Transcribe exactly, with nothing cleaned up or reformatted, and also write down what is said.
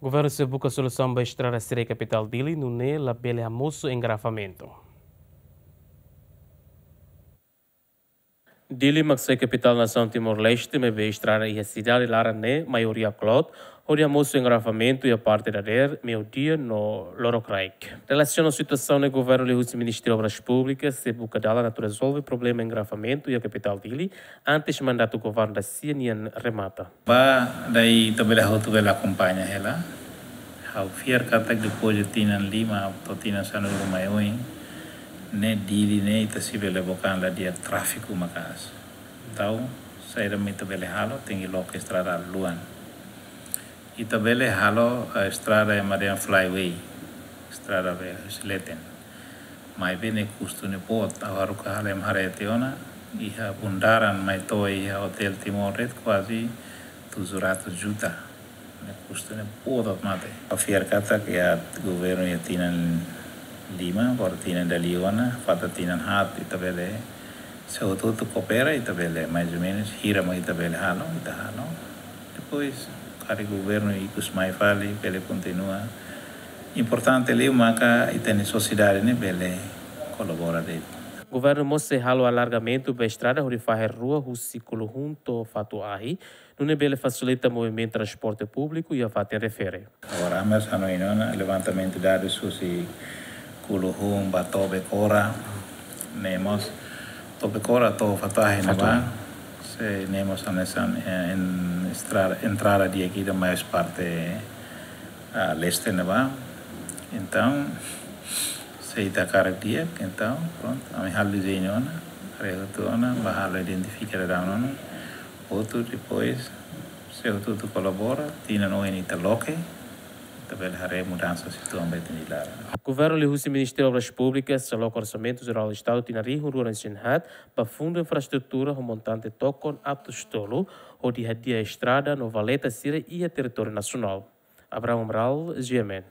Governu sei buka solusaun ba estrada sira iha kapitál Dili, nune'e labele hamosu engarrafamentu. Dili mak sai kapitál nasaun Timor-Leste, maibé estrada iha sidade laran ne'e maioria kloot, hodi hamosu engarrafamentu iha parte dadeer, meiudia no lorokraik. Relasiona situasaun ne'e, governu liuhusi Ministériu Obras Públikas sei buka dalan atu rezolve problema engarrafamentu iha kapitál Dili, antes mandatu governu da-sia nian remata. Ba, daí ita bele, hotu bele akompaña hela. Ha'u fiar katak depois de tinan lima to'o tinan sanulu mai oin, ne'e Dili ne'e ita sei bele bokan la di'ak, tráfiku maka'as. Entaun, saida mak ita bele halo, tenke loke estrada luan. Ita bele halo, eh, estrada ema dehan flyway, estrada be husi leten. Maibé ne'e kustu ne'e boot, ha'u haruka halo ema haree tiha ona, iha bundaran mai to'o iha Hotel Timor de'it kuaze tujuh ratus juta. Ne'e kustu ne'e boot mate. Ha'u fiar katak iha governu iha tinan lima, agora tinan dala rua ona, falta tinan haat, ita bele, se hotu-hotu koopera, ita bele, mais ou menus, hira mak ita bele halo, ita halo. Depois, karik governu ikus mai fali, bele kontinua. Importante liu maka ita-nia sosiedade ne'e bele kolabora de'it. Governu mós sei halo alargamentu ba estrada hodi fahe rua husi Kuluhun to'o Fatu Ahi, nune'e bele fasilita movimentu transporte públiku iha fatin refere. Agora, ami mós hanoin ona, levantamentu dadus husi Kuluhun ba Tobekora, ne'e mós Tobekora to'o Fatu Ahi ne'ebá, sei ne'e mós hanesan, eh, en-, estrada, entrada di'ak ida, mais parte, ah, leste ne'ebá. Entaun, se ita hakarak di'ak, entaun, prontu, ami halo dezeñu ona, haree hotu ona, bá halo identifika daudaun ona, hotu depois, se hotu-hotu kolabora, tinan oin ita loke, ita bele haree mudansa situasaun ba ita-nia laran. Governu liuhusi Ministériu Obras Públikas sei loke Orsamentu Jerál Estadu tinan rihun rua ruanulu-resin-haat ba fundu infraestrutura ho montante tokon atus tolu, hodi hadi'a estrada no valeta sira iha territóriu nasionál. Abraham Amaral, G M N.